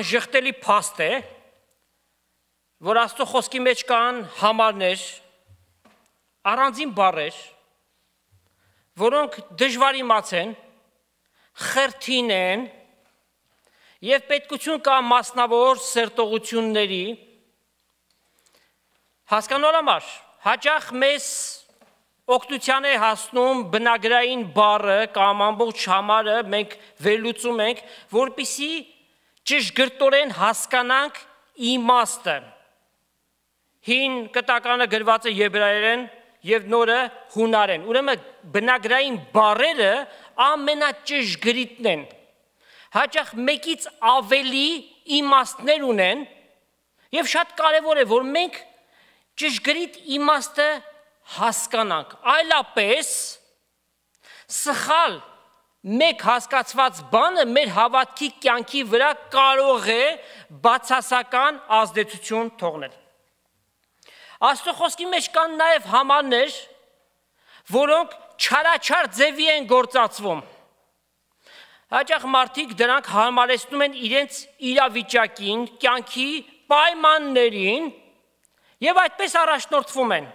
Անժխտելի փաստ է, որ Աստծո խոսքի մեջ կան համարներ, առանձին բառեր, որոնք դժվար իմացեն, խրթին են եւ պետքություն կա մասնավոր սերտողությունների հասկանալ համար հաճախ մեզ օգնության է հասնում բնագրային բառը կամ ամբողջ համարը մենք վերլուծում ենք, որպեսզի ճշգրտորեն հասկանանք իմաստը։ Հին կտականը գրված է եբրայերեն եւ նորը հունարեն։ Ուրեմն բնագրային բառերը ամենաճշգրիտն են։ հաճախ մեկից ավելի իմաստներ ունեն, եւ շատ կարեւոր է, որ մենք ճշգրիտ իմաստը հասկանանք, այլապես սխալ մեկ հասկացված բանը մեր հավատքի կյանքի վրա կարող է բացասական ազդեցություն թողնել։ Աստծո խոսքի մեջ կան նաև համարներ, որոնք չարաչար ձևի են գործածվում։ Հաճախ մարդիկ դրանք հարմարեցնում են իրենց իրավիճակին, կյանքի պայմաններին եւ այդպես առաջնորդվում են։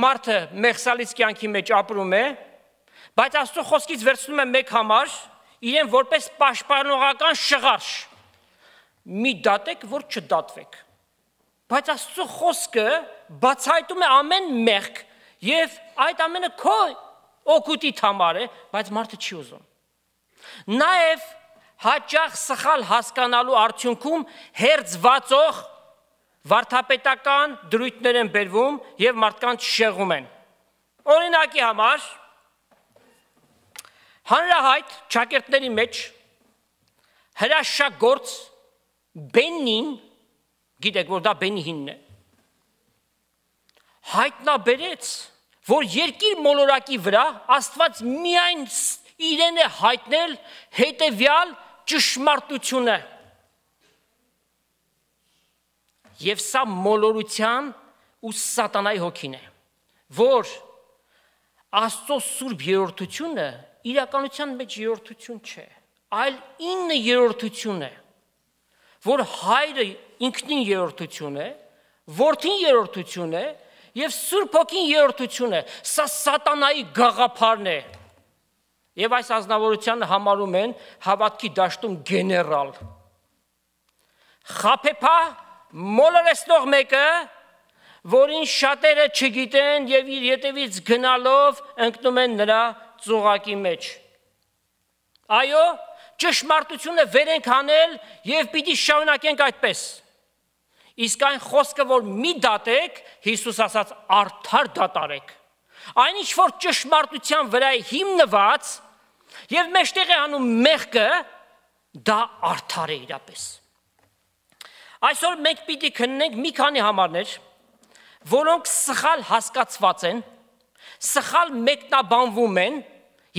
Մարդը մեղսալից կյանքի մեջ ապրում է, բայց Աստծո խոսքից վերցնում է մեկ համար, իրեն որպես պաշտպանողական շղարշ։ Մի դատեք, որ չդատվեք։ Բայց Աստծո խոսքը բացահայտում է ամեն մեղք եւ այդ ամենը քո օգուտիդ համար է, բայց մարդը չի ուզում։ Նաեւ հաճախ սխալ հասկանալու արդյունքում հերձվածող վարդապետական դրույթներ են բերվում եւ մարդկանց շեղում են։ Օրինակի համար հանրահայտ ճակերտների մեջ հրաշագործ Բենին, գիտեք, որ դա Բենիհինն է, հայտնաբերեց, որ երկիր մոլորակի վրա Աստված միայն իրեն է հայտնել հետևյալ ճշմարտությունը։ Եվ սա մոլորության ու սատանայի հոգին է, որ Աստծո սուրբ երրորդությունը իրականության մեջ երրորդություն չէ, այլ 9 երրորդություն է, որ հայրը ինքնին երրորդություն է, որդին երրորդություն է եւ Սուրբ Հոգին երրորդություն է, սա սատանայի գաղափարն է։ Եվ այս ազնվորությանը համարում են հավատքի դաշտում գեներալ։ Խաբեբա մոլորեցնող մեկը, որին շատերը չգիտեն եւ իր ետևից գնալով ընկնում են նրա ծուղակի մեջ։ Այո, ճշմարտությունը վեր ենք անել եւ պիտի շարունակենք այդպես։ Իսկ այն խոսքը, որ մի դատեք, Հիսուս ասաց արդար դատարեք։ Այնինչ որ ճշմարտության վրա է հիմնված եւ մեջտեղ է անում մեղքը, դա արդար է իրապես։ Այսօր մենք պիտի քննենք մի քանի համարներ, որոնք սխալ հասկացված են, սխալ մեկնաբանվում են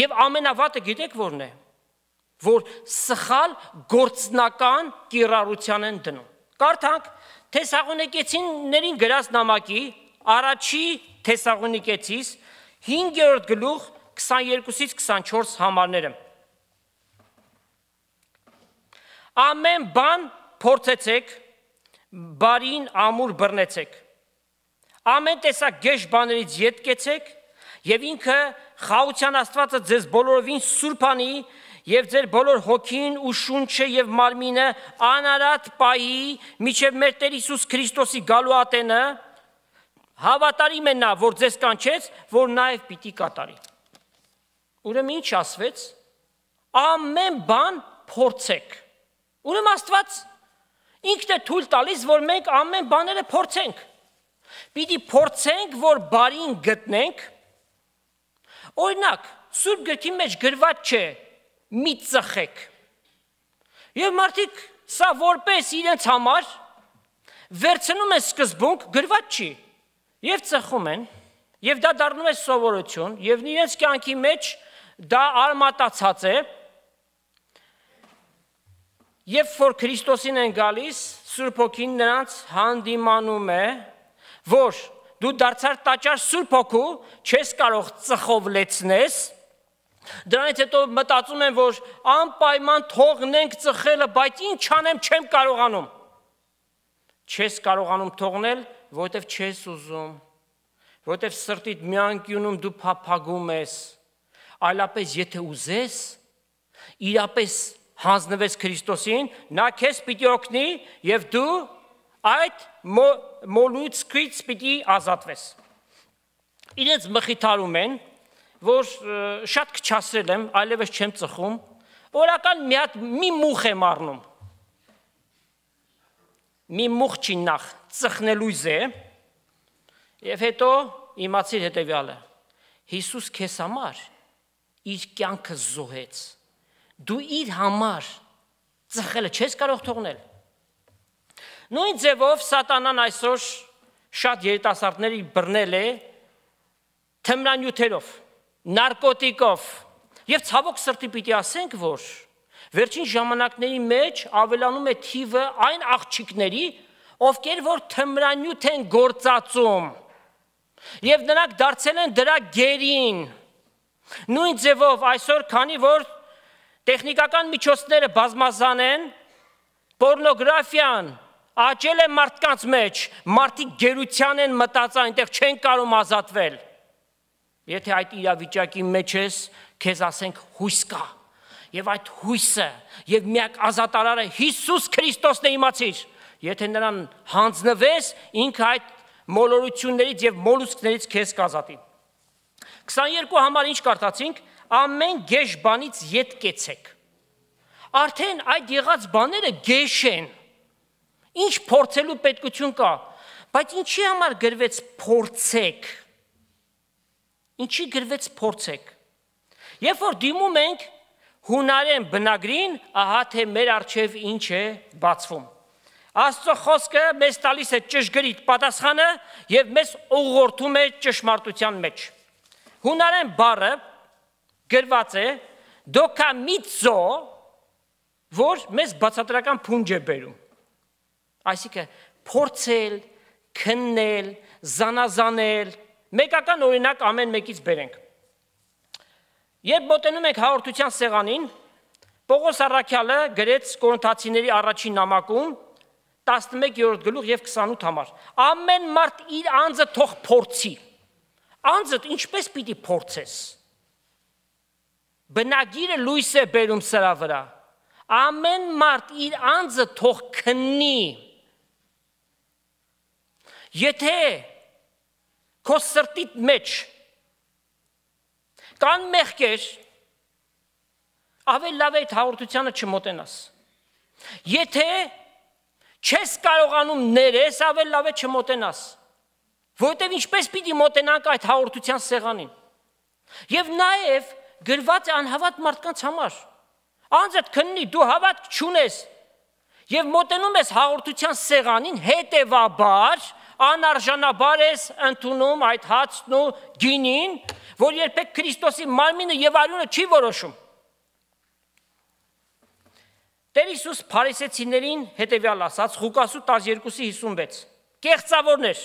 եւ ամենավատը գիտեք որն է, որ սխալ գործնական կիրառության են դնում։ Կարդանք Թեսաղոնիկեցիներին գրած նամակի առաջի Թեսաղոնիկեցիս 5-րդ գլուխ 22-ից 24 համարները։ Ամեն բան փորձեցեք, բարին ամուր բռնեցեք։ Ամեն տեսակ գեշ բաներից ետ կեցեք, եւ ինքը խաղության Աստվածը ձեզ բոլորովին սուրբ անի եւ ձեր բոլոր հոգին ու շունչը եւ մարմինը անարատ պահի միջև մեր Տեր Հիսուս Քրիստոսի գալու ատենը, հավատարիմ է նա, որ ձեզ կանչեց, որ նաեւ պիտի կատարի։ Ուրեմն ինչ ասվեց, ամեն բան փորձեք։ Ուրեմն Աստված ինքն է թույլ տալիս, որ մենք ամեն բաները փորձենք։ Պիտի փորձենք, որ բարին գտնենք։ Օրինակ, Սուրբ գրքի մեջ գրված չէ մի ծխեք։ Եվ մարդիկ սա որպես իրենց համար վերցնում են սկզբունք, գրված չի։ Եվ ծխում են, եւ դա դառնում է սովորություն, եւ իրենց կյանքի մեջ դա արմատացած է։ Երբ որ Քրիստոսին են գալիս, Սուրբ Հոգին նրանց հանդիմանում է, որ դու դարձար տաճար Սուրբ Հոգու, չես կարող ծխով լեցնես։ Դրանից հետո մտածում են, որ անպայման թողնենք ծխելը, բայց ինչ անեմ, չեմ կարողանում։ Չես կարողանում թողնել, որովհետև չես ուզում, որովհետև սրտիդ մի անկյունում դու փափագում ես, այլապես եթե ուզես, իրապես հանձնվես Քրիստոսին, նա քեզ պիտի օգնի եւ դու այդ մոլուցքից պիտի ազատվես։ Իրենց մխիթարում են, որ շատ քչացրել եմ, այլևս չեմ ծխում, օրական մի մուխ եմ առնում։ Մի մուխ չի նախ ծխնելույզ է, եւ հետո իմացիր հետեւյալը. Հիսուս քեզ համար իր կյանքը զոհեց։ Դու իր համար ծխելը չես կարող թողնել։ Նույն ձևով սատանան այսօր շատ երիտասարդների բռնել է թմրանյութերով, նարկոտիկով, եւ ցավոք սրտի պիտի ասենք, որ վերջին ժամանակների մեջ ավելանում է թիվը այն աղջիկների, ովքեր որ թմրանյութ են գործածում, եւ նրանք դարձել են դրա գերին։ Նույն ձևով այսօր, քանի որ տեխնիկական միջոցները բազմազան են, պորնոգրաֆիան աճել է մարդկանց մեջ, մարդիկ գերության են մտած այնտեղ չեն կարող ազատվել։ Եթե այդ իրավիճակի մեջ ես, քեզ ասենք հույս կա, եւ այդ հույսը եւ միակ ազատարարը Հիսուս Քրիստոսն է, իմացիր, եթե նրան հանձնվես, ինքը այդ մոլորություններից եւ մոլուսկներից քեզ կազատի։ 22 համար ինչ կարդացինք, ամեն գեշ բանից ետ կեցեք։ Արդեն այդ եղած բաները գեշ են։ Ինչ փորձելու պետքություն կա, բայց ինչի համար գրվեց փորձեք։ Ինչի գրվեց փորձեք։ Երբ որ դիմում ենք հունարեն բնագրին, ահա թե մեր առջև ինչ է բացվում։ Աստծո խոսքը մեզ տալիս է ճշգրիտ պատասխանը եւ մեզ ուղղորդում է ճշմարտության մեջ։ Հունարեն բառը գրված է դոկամիցո, որ մեզ բացատրական փունջ է բերում։ Այսինքն փորձել, քննել, զանազանել, մեկական օրինակ ամեն մեկից բերենք։ Երբ մոտենում ենք հաղորդության սեղանին, Պողոս առաքյալը գրեց Կորինթացիների առաջին նամակում 11-րդ գլուխ եւ 28 համար։ Ամեն մարդ իր անձը թող փորձի։ Անձդ ինչպես պիտի փորձես։ Բնագիրը լույս է բերում սրա վրա։ Ամեն մարդ իր անձը թող քննի։ Եթե քո սրտիդ մեջ կան մեղքեր, ավելի լավ է այդ հաղորդությանը չմոտենաս։ Եթե չես կարողանում ներես, ավելի լավ է չմոտենաս։ Որտեւ ինչպես պիտի մոտենանք այդ հաղորդության սեղանին։ Եվ նաև գրված է անհավատ մարդկանց համար։ Անձդ քննի, դու հավատք չունես եւ մոտենում ես հաղորդության սեղանին, հետեւաբար անարժանաբար ես ընդունում այդ հացն ու գինին, որ երբեք Քրիստոսի մարմինը եւ արյունը չի որոշում։ Տեր Հիսուս փարիսեցիներին հետևյալ ասաց Ղուկաս 12:56. Կեղծավորներ,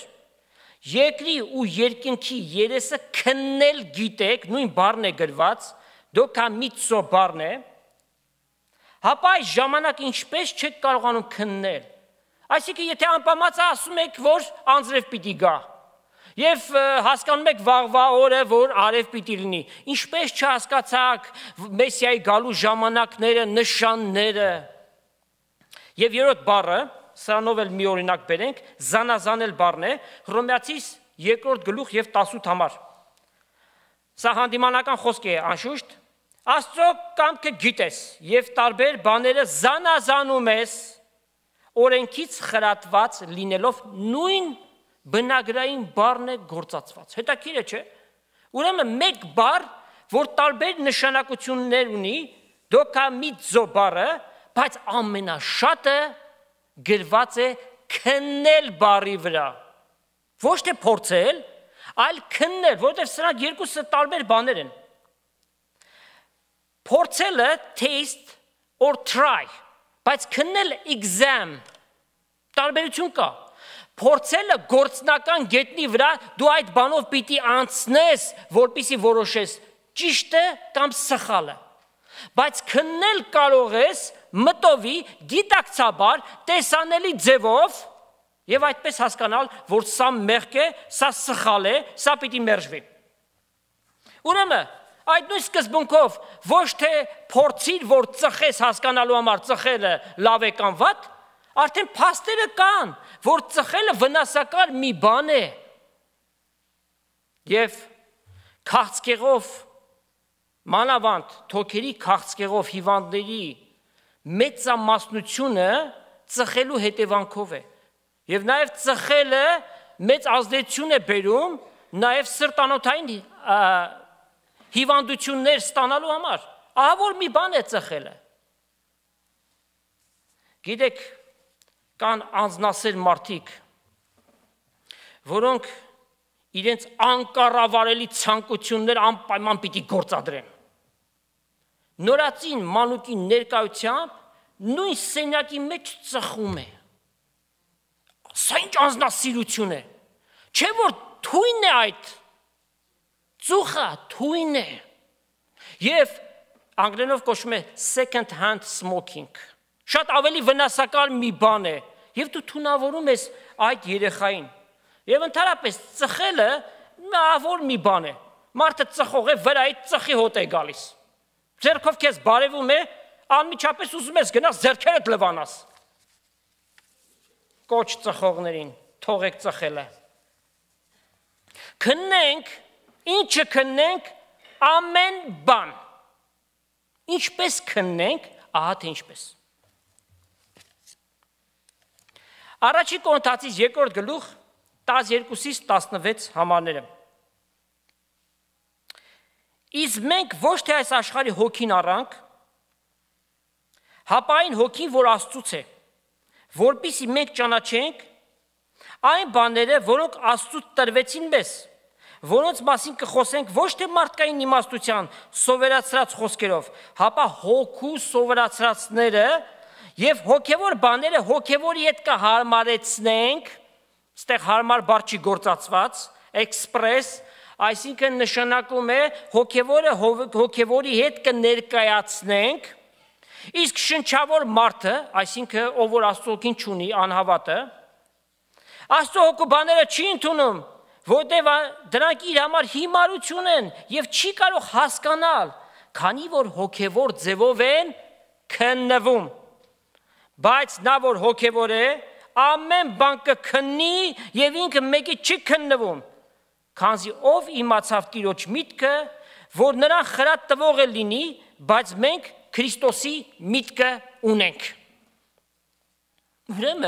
երկրի ու երկինքի երեսը քննել գիտեք, նույն բառն է գրված, դոկամիցո բառն է, հապա այս ժամանակ ինչպես չեք կարողանում քննել։ Այսինքն եթե անպամած ասում եք, որ անձրև պիտի գա, եւ հասկանում եք վաղվա օրը, որ արև պիտի լինի, ինչպես չհասկացաք Մեսիայի գալու ժամանակները, նշանները։ Եվ երրորդ բառը, սրանով էլ մի օրինակ բերենք, զանազանել բառն է, Հռոմեացիս 2-րդ գլուխ եւ 18 համար։ Սա հանդիմանական խոսք է, անշուշտ, Աստծո կամքը գիտես եւ տարբեր բաները զանազանում ես, օրենքից խրատված լինելով նույն բնագրային բառն է գործածված։ Հետաքրքիր է, չէ՞։ Ուրեմն մեկ բառ, որ տարբեր նշանակություններ ունի, դոկամիցո բառը, բայց ամենաշատը գրված է քննել բառի վրա։ Ոչ թե փորձել, այլ քննել, որովհետև սրանք երկուսը տարբեր բաներ են։ Փորձելը taste or try, բայց քննելը exam, տարբերություն կա։ Փորձելը գործնական գետնի վրա դու այդ բանով պիտի անցնես, որպեսզի որոշես ճիշտը կամ սխալը։ Բայց քննել կարող ես մտովի, գիտակցաբար, տեսանելի ձևով եւ այդպես հասկանալ, որ սա մեղք է, սա սխալ է, սա պիտի մերժվի։ Ուրեմն այդ նույն սկզբունքով ոչ թե փորձիր, որ ծխես հասկանալու համար ծխելը լավ է կամ վատ, արդեն փաստերը կան, որ ծխելը վնասակար մի բան է։ Եվ քաղցկեղով, մանավանդ թոքերի քաղցկեղով հիվանդների մեծամասնությունը ծխելու հետևանքով է։ Եվ նաև ծխելը մեծ ազդեցություն է բերում նաև սրտանոթային հիվանդություններ ստանալու համար։ Ահա որ մի բան է ծխելը։ Գիտեք, կան անձնասեր մարդիկ, որոնք իրենց անկառավարելի ցանկություններ անպայման պիտի գործադրեն։ Նորածին մանուկի ներկայությամբ նույն սենյակի մեջ ծխում է։ Սա ինչ անձնասիրություն է։ Չէ՞ որ թույն է այդ։ Ծուխը թույն է։ Եվ անգլերենով կոչվում է second hand smoking։ Շատ ավելի վնասակար մի բան է, եւ դու թունավորում ես այդ երեխային։ Եվ ընդհանրապես ծխելը որ մի բան է։ Մարդը ծխող է, վրայից ծխի հոտ է գալիս։ Ձեռքով քեզ բարևում է, անմիջապես ուզում ես գնաս ձեռքերդ լվանաս։ Կոչ ծխողներին, թողեք ծխելը։ Քննենք, ինչը քննենք, ամեն բան։ Ինչպես քննենք, ահա թե ինչպես։ Առաջին Կորինթացիս 2-րդ գլուխ 12-ից 16 համարները։ Իսկ մենք ոչ թե այս աշխարհի հոգին առանք, հապա այն հոգին, որ Աստծուց է, որպեսզի մենք ճանաչենք այն բաները, որոնք Աստծուց տրվեցին մեզ, որոնց մասին կխոսենք ոչ թե մարդկային իմաստության սովորացրած խոսքերով, հապա հոգու սովորացրածները եւ հոգեվոր բաները հոգեվորի հետ կհարմարեցնենք, այստեղ հարմար բառ չի գործածված, express, այսինքն նշանակում է հոգեվորը հոգեվորի հետ կներկայացնենք, իսկ շնչավոր մարդը, այսինքն ով որ Աստծո հոգին չունի, անհավատը, Աստծո հոգու բաները չի ընդունում, որտեղ դրանք իր համար հիմարություն են եւ չի կարող հասկանալ, քանի որ հոգեվոր ձևով են քննվում։ Բայց նա որ հոգեվոր է, ամեն բան կքննի եւ ինքը մեկի չի քննվում, քանզի ով իմացավ Տիրոջ միտքը, որ նրան խրատ տվող է լինի, բայց մենք Քրիստոսի միտքը ունենք։ Ուրեմն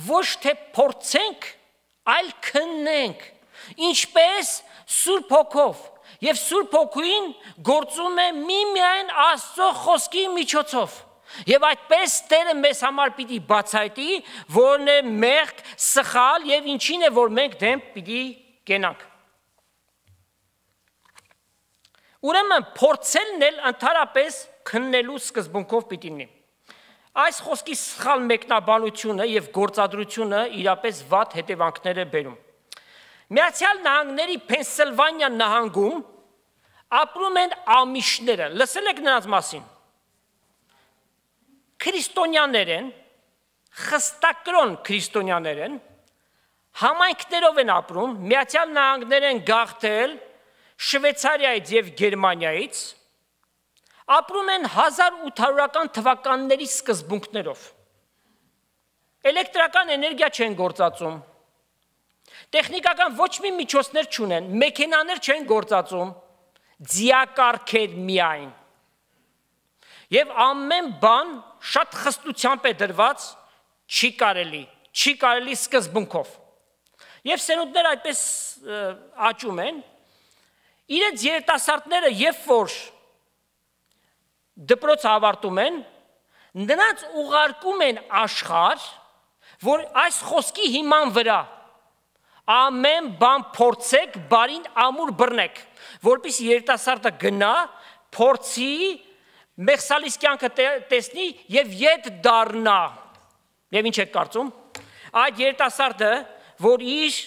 ոչ թե փորձենք, այլ քննենք, ինչպես Սուրբ Հոգով, եւ Սուրբ Հոգին գործում է միմիայն Աստծո խոսքի միջոցով։ Եվ այդպես Տերը մեզ համար պիտի բացայտի, որն է մեղք, սխալ եւ ինչին է, որ մենք դեմ պիտի կենանք։ Ուրեմն փորձելն էլ ընդհանրապես քննելու սկզբունքով պիտի լինի։ Այս խոսքի սխալ մեկնաբանությունը եւ գործադրությունը իրապես վատ հետևանքներ է բերում։ Միացյալ Նահանգների Փենսիլվանիա նահանգում ապրում են ամիշները, լսել եք նրանց մասին։ Քրիստոնյաներ են, խստակրոն քրիստոնյաներ են, համայնքներով են ապրում, Միացյալ Նահանգներ են գաղթել Շվեյցարիայից եւ Գերմանիայից, ապրում են 1800-ական թվականների սկզբունքներով։ Էլեկտրական էներգիա չեն գործածում, տեխնիկական ոչ մի միջոցներ չունեն, մեքենաներ չեն գործածում, ձիակառքեր միայն։ Եվ ամեն բան շատ խստությամբ է դրված, չի կարելի սկզբունքով։ Եվ սերունդները այդպես աճում են, իրենց երիտասարդները երբ որ դպրոց ավարտում են, նրանց ուղարկում են աշխարհ, որ այս խոսքի հիման վրա ամեն բան փորձեք, բարին ամուր բռնեք, որպեսզի երիտասարդը գնա, փորձի, մեղսալիս կյանքը տեսնի եւ ետ դառնա։ Եվ ինչ եք կարծում։ Այդ երիտասարդը, որ իր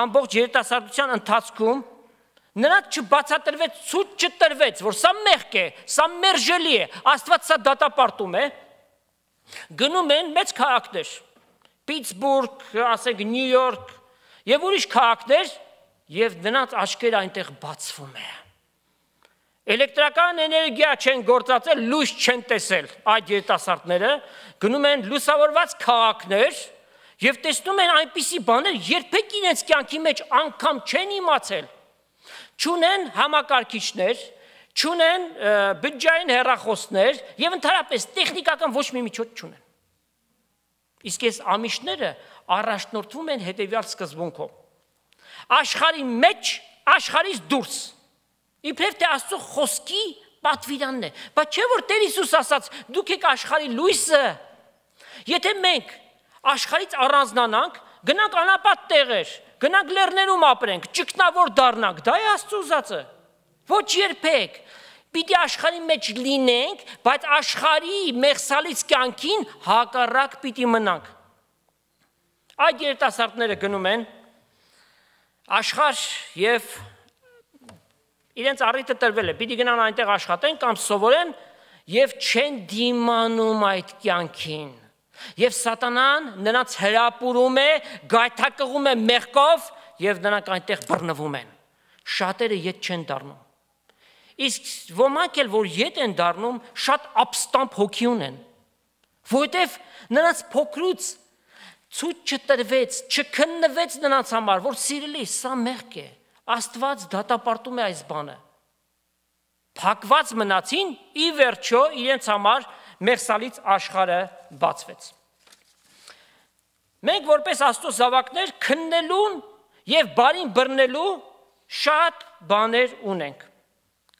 ամբողջ երիտասարդության ընթացքում նրանց չբացատրվեց, ցույց չտրվեց, որ սա մեղք է, սա մերժելի է, Աստված սա դատապարտում է, գնում են մեծ քաղաքներ, Պիտսբուրգ, ասենք Նյու Յորք եւ ուրիշ քաղաքներ, եւ նրանց աչքերը այնտեղ բացվում է։ Էլեկտրական էներգիա չեն գործածել, լույս չեն տեսել այդ երիտասարդները, գնում են լուսավորված քաղաքներ եւ տեսնում են այնպիսի բաներ, երբեք իրենց կյանքի մեջ անգամ չեն իմացել։ Չունեն համակարգիչներ, չունեն բջջային հեռախոսներ եւ ընդհանրապես տեխնիկական ոչ մի միջոց չունեն։ Իսկ այս ամիշները առաջնորդվում են հետեւյալ սկզբունքով. աշխարհի մեջ, աշխարհից դուրս Իբրև թե Աստծո խոսքի պատվիրանն է, բայց չէ որ Տեր Հիսուս ասաց, դուք եք աշխարհի լույսը։ Եթե մենք աշխարհից առանձնանանք, գնանք անապատ տեղեր, գնանք լեռներում ապրենք, ճգնավոր դառնանք, դա է Աստծո ուզածը։ Ոչ երբեք։ Պիտի աշխարհի մեջ լինենք, բայց աշխարհի մեղսալից կյանքին հակառակ պիտի մնանք։ Այդ երիտասարդները գնում են աշխարհ եւ իրենց առիթը տրվել է, պիտի գնան այնտեղ աշխատեն կամ սովորեն եւ չեն դիմանում այդ կյանքին։ Եվ սատանան նրանց հրապուրում է, գայթակղում է մեղքով եւ նրանք այնտեղ բռնվում են։ Շատերը ետ չեն դառնում։ Իսկ ոմանք էլ որ ետ են դառնում, շատ ապստամբ հոգի ունեն, որովհետեւ նրանց փոքրուց ցույց չտրվեց, չքննվեց նրանց համար, որ սիրելի, սա մեղք է։ Աստված դատապարտում է այս բանը։ Փակված մնացին, ի վերջո իրենց համար մեղսալից աշխարհը բացվեց։ Մենք որպես Աստծո զավակներ քննելու եւ բարին բռնելու շատ բաներ ունենք։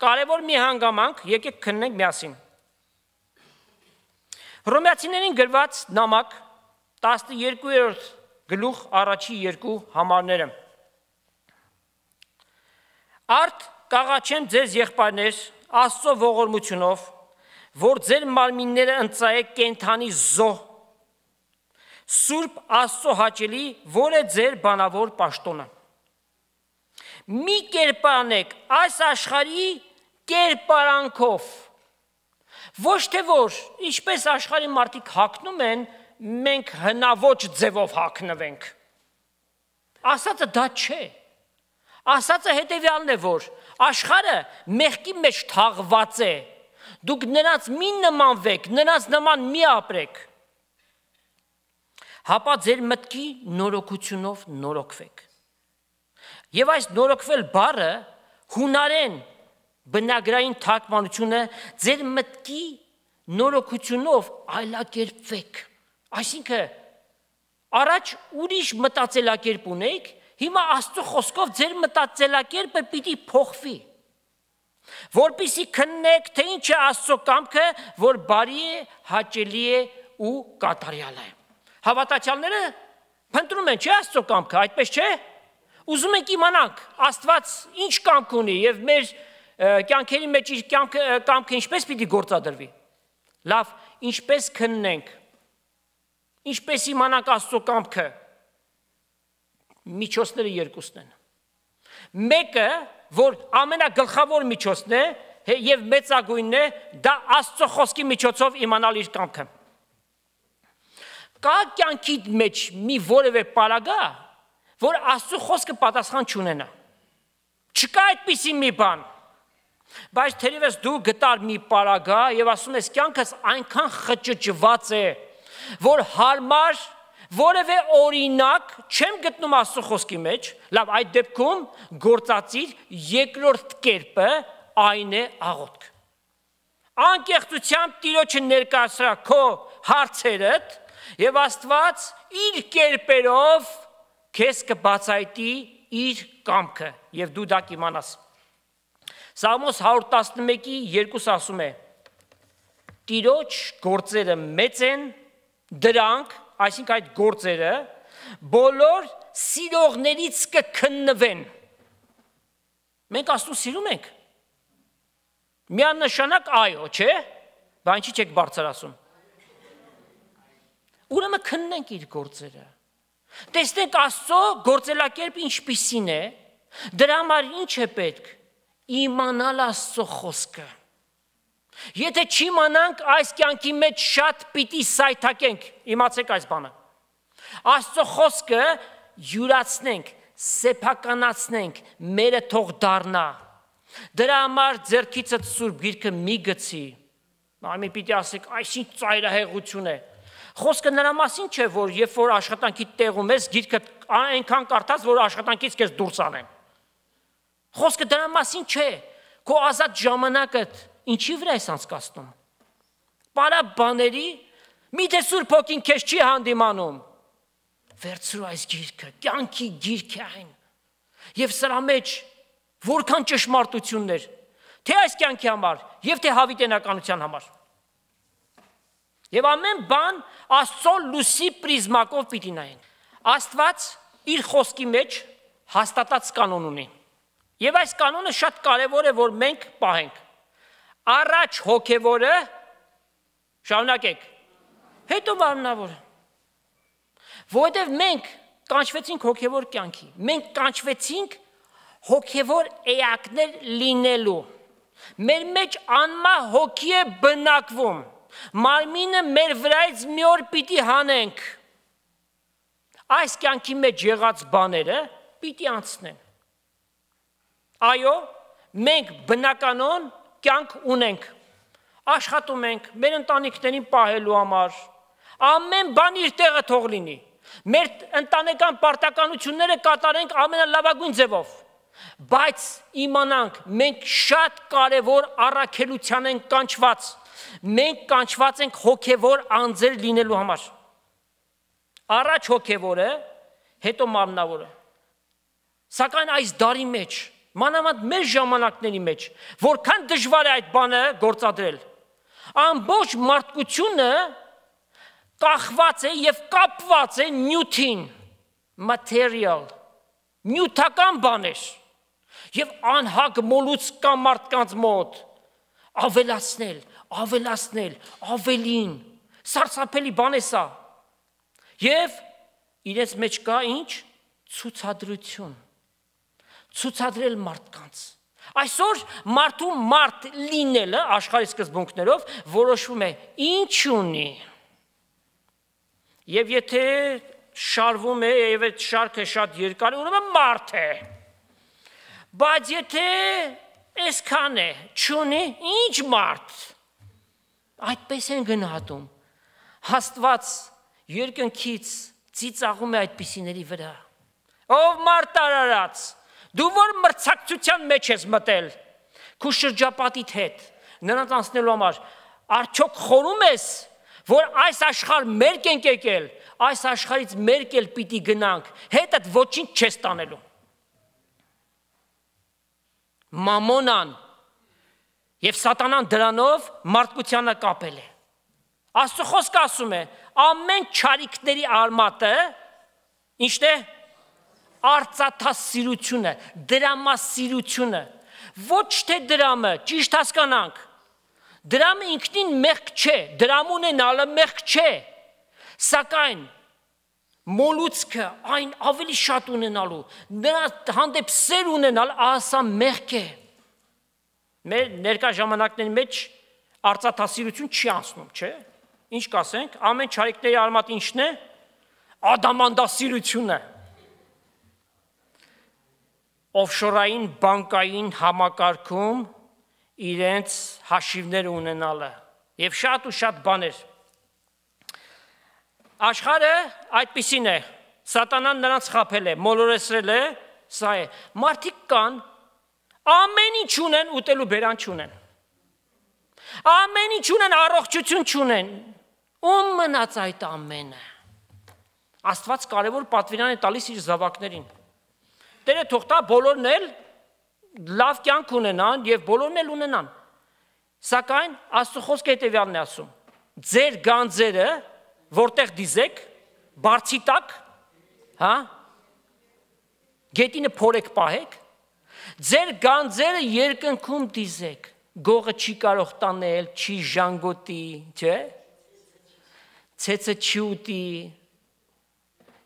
Կարևոր մի հանգամանք, եկեք քննենք միասին։ Հռոմեացիներին գրված նամակ 12-րդ գլուխ առաջի 2 համարները։ Արդ կաղաչեմ ձեզ եղբայրներ Աստծո ողորմությունով, որ ձեր մարմինները ընծայեք կենդանի զոհ, Սուրբ Աստծո հաճելի, որ է ձեր բանավոր պաշտոնը։ Մի կերպարանեք այս աշխարհի կերպարանքով, ոչ թե որ, ինչպես աշխարհի մարդիկ հագնում են, մենք հնաոճ ձևով հագնվենք։ Ասածը դա չէ։ Ասածը հետևյալն է, որ աշխարհը մեղքի մեջ թաղված է, դուք նրանց մի նմանվեք, նրանց նման մի ապրեք, հապա ձեր մտքի նորոգությունով նորոգվեք։ Եվ այս նորոգվել բառը հունարեն բնագրային թարգմանությունը ձեր մտքի նորոգությունով այլակերպվեք։ Այսինքն առաջ ուրիշ մտածելակերպ ունեիք, հիմա Աստծո խոսքով ձեր մտածելակերպը պիտի փոխվի, որպեսզի քննեք, թե ինչ է Աստծո կամքը, որ բարի է, հաճելի է ու կատարյալ է։ Հավատացյալները փնտրում են, չէ՞ Աստծո կամքը, այդպես չէ՞։ Ուզում ենք իմանանք Աստված ինչ կամք ունի եւ մեր կյանքերի մեջ իր կամքը ինչպես պիտի գործադրվի։ Լավ, ինչպես քննենք, ինչպես իմանանք Աստծո կամքը։ Միջոցները երկուսն են։ Մեկը, որ ամենագլխավոր միջոցն է եւ մեծագույնն է, դա Աստծո խոսքի միջոցով իմանալ իր կամքը։ Կա կյանքի մեջ մի որևէ պարագա, որ Աստծո խոսքը պատասխան չունենա։ Չկա այդպիսի մի բան։ Բայց թերևս դու գտար մի պարագա եւ ասում ես կյանքս այնքան խճճված է, որ հարմար որևէ օրինակ չեմ գտնում Աստծո խոսքի մեջ, լավ, այդ դեպքում գործածիր երկրորդ կերպը, այն է աղոթք։ Անկեղծությամբ Տիրոջը ներկայացրա քո հարցերդ եւ Աստված իր կերպերով քեզ կբացայտի իր կամքը եւ դու դա կիմանաս։ Սաղմոս 111:2 ասում է. Տիրոջ գործերը մեծ են, դրանք, այսինքն այդ գործերը, բոլոր սիրողներից կքննվեն։ Մենք Աստծուն սիրում ենք։ Միանշանակ այո, չէ՞։ Բայց ինչի՞ չեք բարձր ասում։ Ուրեմն քննենք իր գործերը։ Տեսնենք Աստծո գործելակերպ ինչպիսին է, դրա համար ինչ է պետք։ Իմանալ Աստծո խոսքը։ Եթե չիմանանք, այս կյանքի մեջ շատ պիտի սայթակենք, իմացեք այս բանը։ Աստծո խոսքը յուրացնենք, սեփականացնենք, մերը թող դառնա։ Դրա համար ձեռքիցդ Սուրբ Գիրքը մի գցի։ Այմի պիտի ասեք, այսինչ ծայրահեղություն է։ Խոսքը նրա մասին չէ, որ երբ որ աշխատանքի տեղում ես, գիրքը այնքան կարդաս, որ աշխատանքից քեզ դուրս անեն։ Խոսքը դրա մասին չէ, քո ազատ ժամանակդ ինչի վրա ես անցկացնում։ Պարա բաների, միթե Սուրբ Հոգին քեզ չի հանդիմանում։ Վերցրու այս գիրքը, կյանքի գիրք է այն։ Եվ սրա մեջ Որքան ճշմարտություններ, թե այս կյանքի համար եւ թե հավիտենականության համար։ Եվ ամեն բան Աստծո լույսի պրիզմակով պիտի նայենք։ Աստված իր խոսքի մեջ հաստատած կանոն ունի։ Եվ այս կանոնը շատ կարևոր է, որ մենք պահենք։ Առաջ հոգևորը, շարունակեք, հետո մարմնավորը։ Որովհետև մենք կանչվեցինք հոգևոր կյանքի, մենք կանչվեցինք հոգևոր էակներ լինելու։ Մեր մեջ անմա հոգի է բնակվում, մարմինը մեր վրայից մի օր պիտի հանենք։ Այս կյանքի մեջ եղած բաները պիտի անցնեն։ Այո, մենք բնականon կյանք ունենք, աշխատում ենք, մեր ընտանիքներին պահելու համար, ամեն բան իր տեղը թող լինի, մեր ընտանեկան պարտականությունները կատարենք ամենալավագույն ձևով, բայց իմանանք, մենք շատ կարևոր առաքելության ենք կանչված, մենք կանչված ենք հոգևոր անձեր լինելու համար, առաջ հոգևորը, հետո մարմնավորը, սակայն այս դարի մեջ, մանավանդ մեր ժամանակների մեջ, որքան դժվար է այդ բանը գործադրել, ամբողջ մարդկությունը կախված է և կապված է նյութին, material, նյութական բաներ, և անհագ մոլուց կա մարդկանց մոտ, ավելացնել, ավելին, սարսափելի բան է սա, և իրենց մեջ կա ինչ? Ցուցադրություն, ցուցադրել մարդկանց, այսօր մարդու մարդ լինելը աշխարհի սկզբունքներով որոշվում է ինչ ունի, և եթե շարվում է և այդ շարքը շատ երկար է, ուրեմն մարդ է, բայց եթե այսքան է, չունի, ինչ մարդ, այդպես են գնահատում, Աստված երկնքից ծիծաղում է այդպիսիների վրա, ով մարդ արարած, դու որ մրցակցության մեջ ես մտել, քու շրջապատիդ հետ, նրանց անցնելու համար, արդյոք խորում ես, որ այս աշխարհ մերկ ենք եկել, այս աշխարհից մերկ էլ պիտի գնանք, հետդ ոչինչ չես տանելու։ Մամոնան և սատանան դրանով մարդկությանը կապել է։ Աստծո խոսքը ասում է, ամեն չարիքների արմատը, ինչն է? Արծաթասիրությունը, դրամասիրությունը, ոչ թե դրամը, ճիշտ հասկանանք, դրամը ինքնին մեղք չէ, դրամ ունենալը մեղք չէ, սակայն մոլուցքը այն ավելի շատ ունենալու, նրա հանդեպ սեր ունենալ, ասա մեղք է, մեր ներկա ժամանակների մեջ արծաթասիրություն չի անցնում, չէ, ինչ կասենք, ամեն չարիքների արմատ ինչն է, ադամանդասիրությունը, օֆշորային բանկային համակարգում իրենց հաշիվները ունենալը և շատ ու շատ բաներ։ Աշխարհը այդպիսին է, սատանան նրանց խաբել է, մոլորեցրել է, սա է, մարդիկ կան, ամեն ինչ ունեն, ուտելու բերան չունեն, ամեն ինչ ունեն, առողջություն չունեն, ում մնաց այդ ամենը, Աստված կարևոր պատվիրան է տալիս իր զավակներին, Տերը թող տա բոլորն էլ լավ կյանք ունենան և բոլորն էլ ունենան, սակայն Աստծո խոսքը հետևյալն է ասում, ձեր գանձերը որտեղ դիզեք, բարձի տակ, գետինը փորեք պահեք, ձեր գանձերը երկնքում դիզեք, գողը չի կարող տանել, չի ժանգոտի, չէ, ցեցը չի ուտի,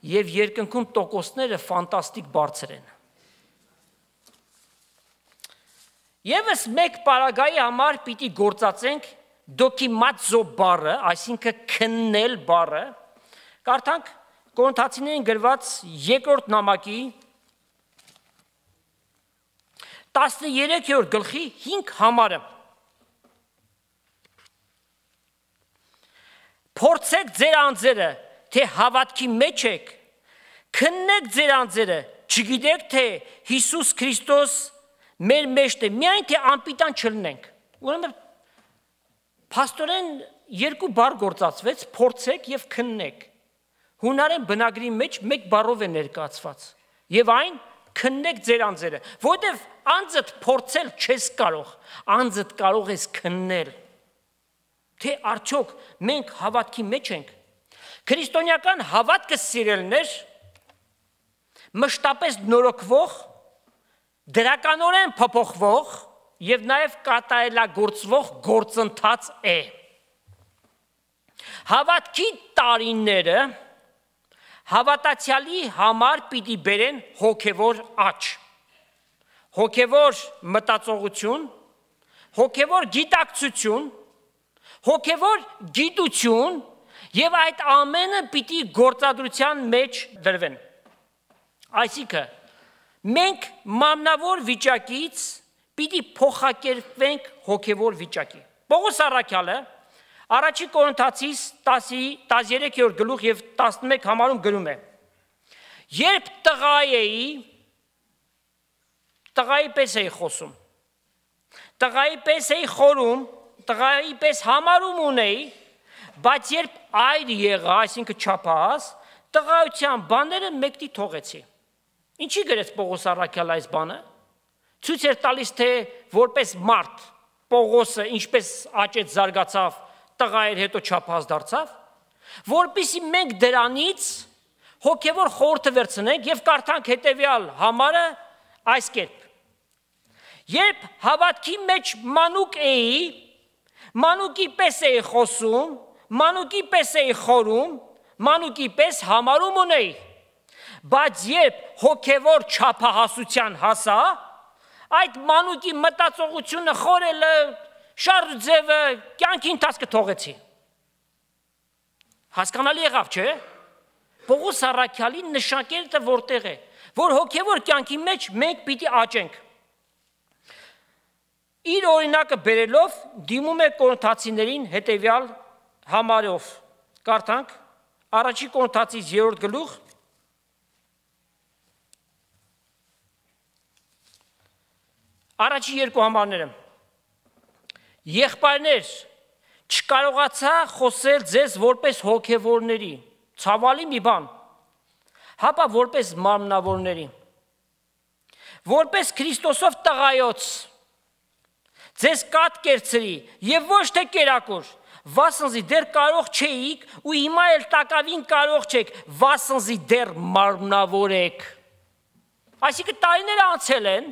և երկնքում տոկոսները ֆանտաստիկ բարձր են։ Եվս մեկ պարագայի համար պիտի գործածենք դոկիմատզո բառը, այսինքն քննել բառը, կարդանք Կորինթացիներին գրված երկրորդ նամակի 13-րդ գլխի 5 համարը։ Փորձեք ձեր անձերը, թե հավատքի մեջ եք, քննեք ձեր անձերը, չգիտեք, թե Հիսուս Քրիստոս մեր մեջն է, միայն թե անպիտան չլինենք։ Ուրեմն փաստորեն երկու բառ գործածվեց, փորձեք և քննեք։ Հունարեն բնագրի մեջ մեկ բառով է ներկայացված, և այն քննեք ձեր անձերը, որովհետև անձդ փորձել չես կարող, անձդ կարող ես քննել, թե արդյոք մենք հավատքի մեջ ենք։ Քրիստոնեական հավատքը սիրելներ մշտապես նորոգվող, դրականորեն փոփոխվող եւ նաեւ կատարելագործվող գործընթաց է։ Հավատքի տարիները հավատացյալի համար պիտի բերեն հոգևոր աճ, հոգևոր մտածողություն, հոգևոր գիտակցություն, հոգևոր գիտություն եւ այդ ամենը պիտի գործադրության մեջ դրվեն։ Այսինքն մենք մարմնավոր վիճակից պիտի փոխակերպվենք հոգևոր վիճակի։ Պողոս առաքյալը Առաջի Կորինթացիս 13-րդ գլուխ եւ 11 համարում գրում է. Երբ տղայի պես էի խոսում, տղայի պես էի խորում, տղայի պես համարում ունեի, բայց երբ այր եղա, այսինքն չափահաս, տղայության բաները մեկտի թողեցի։ Ինչի գրեց Պողոս առաքյալը այս բանը։ Ցույց էր տալիս, թե որպես մարդ Պողոսը ինչպես աճեց, զարգացավ, տղա էր, հետո չափահաս դարձավ, որպեսզի մենք դրանից հոգևոր խորհուրդ վերցնենք եւ կարդանք հետեւյալ համարը այս կերպ. Երբ հավատքի մեջ մանուկ էի, մանուկի պես էի խոսում, մանուկի պես էի խորում, մանուկի պես համարում ունեի, բայց երբ հոգևոր չափահասության հասա, այդ մանուկի մտածողությունը, խորելը, շարժձևը, կյանքի ընթացքը թողեցի։ Հասկանալի եղավ, չէ՞։ Պողոս առաքյալի նշանակելը որտեղ է, որ հոգևոր կյանքի մեջ մենք պիտի աճենք։ Իր օրինակը բերելով դիմում է Կորինթացիներին հետևյալ համարով։ Կարդանք Առաջի Կորինթացիս 3-րդ գլուխ առաջի երկու համարները։ Եղբայրներ, չկարողացա խոսել ձեզ որպես հոգևորների, ցավալի մի բան, հապա որպես մարմնավորների, որպես Քրիստոսով տղայոց, ձեզ կատ կերցրի եւ ոչ թե կերակուր, վասնզի դեռ կարող չէիք ու հիմա էլ տակավին կարող չեք, վասնզի դեռ մարմնավոր եք։ Այսինքն տարիները անցել են,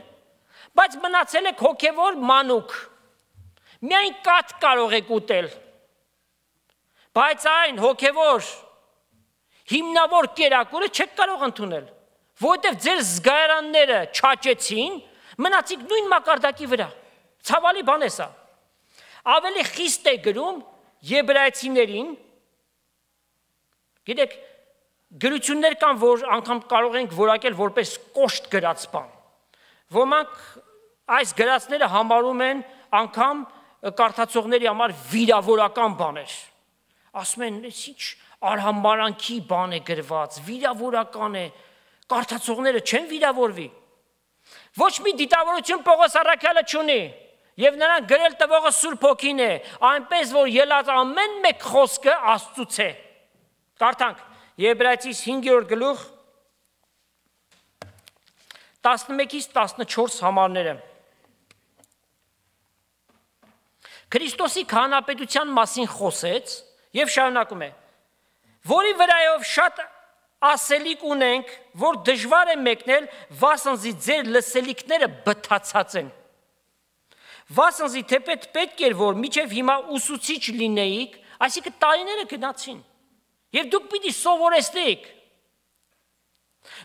բայց մնացել եք հոգևոր մանուկ։ Միայն կատ կարող եք ուտել, բայց այն հոգևոր հիմնավոր կերակուրը չեք կարող ընդունել, որովհետև ձեր զգայարանները չաճեցին, մնացիք նույն մակարդակի վրա։ Ցավալի բան է սա։ Ավելի խիստ է գրում եբրայեցիներին, գիտեք, գրություններ կան, որ անգամ կարող ենք որակել որպես կոշտ գրած բան։ Ոմանք այս գրածները համարում են անգամ կարդացողների համար վիրավորական բաներ։ Ասում են, ինչ արհամարանքի բան է գրված, վիրավորական է, կարդացողները չեն վիրավորվի։ Ոչ մի դիտավորություն Պողոս առաքյալը չունի, եւ նրան գրել տվողը Սուրբ Հոգին է, այնպես որ ելած ամեն մեկ խոսքը Աստծուց է։ Կարդանք Եբրայեցիս 5-րդ գլուխ 11-ից 14 համարները։ Քրիստոսի քահանապետության մասին խոսեց եւ շարունակում է. որի վրայով շատ ասելիք ունենք, որ դժվար է մեկնել, վասնզի ձեր լսելիքները բթացած են։ Վասնզի թեպետ պետք էր, որ միջև հիմա ուսուցիչ լինեիք, այսինքն տարիները գնացին, եւ դուք պիտի սովորեցնեիք։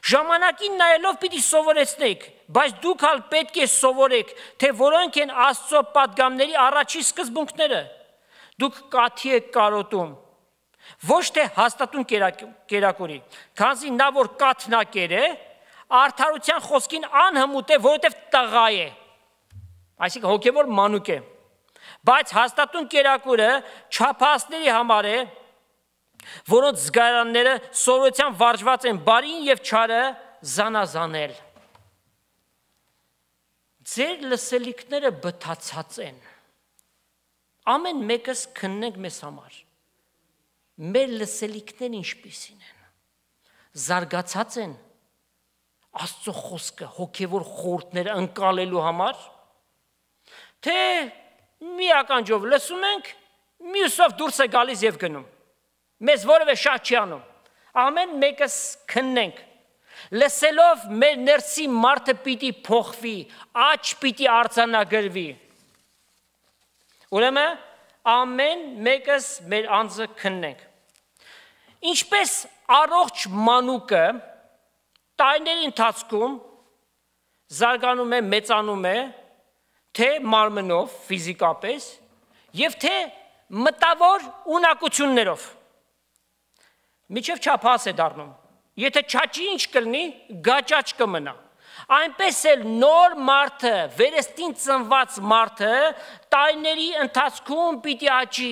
Ժամանակին նայելով պիտի սովորեցնեիք, բայց դուք հալ պետք է սովորեք, թե որոնք են Աստծո պատգամների առաջի սկզբունքները։ Դուք կաթի եք կարոտում, ոչ թե հաստատուն կերակուրի, քանզի նա որ կաթնակեր է, արդարության խոսքին անհմուտ է, որովհետև տղա է, այսինքն հոգևոր մանուկ է, բայց հաստատուն կերակուրը չափահասների համար է, որոնց զգայարանները սովորության վարժված են բարին եւ չարը զանազանել։ Ձեր լսելիքները բթացած են։ Ամեն մեկս քննենք մեզ համար։ Մեր լսելիքները ինչպիսին են։ Զարգացած են, Աստծո խոսքը հոգևոր խորհուրդները ընկալելու համար, թե մի ականջով լսում ենք, մյուսով դուրս է գալիս եւ գնում։ Մեզ որևէ շատ չի անում։ Ամեն մեկս քննենք։ Լսելով մեր ներսի մարդը պիտի փոխվի, աճ պիտի արձանագրվի։ Ուրեմն ամեն մեկս մեր անձը քննենք։ Ինչպես առողջ մանուկը տարիների ընթացքում զարգանում է, մեծանում է, թե մարմնով, ֆիզիկապես, եւ թե մտավոր ունակություններով։ Միջև չափահաս է դառնում։ Եթե չաճի ինչ կլինի, գաճաճ կմնա։ Այնպես էլ նոր մարդը, վերստին ծնված մարդը տարիների ընթացքում պիտի աճի։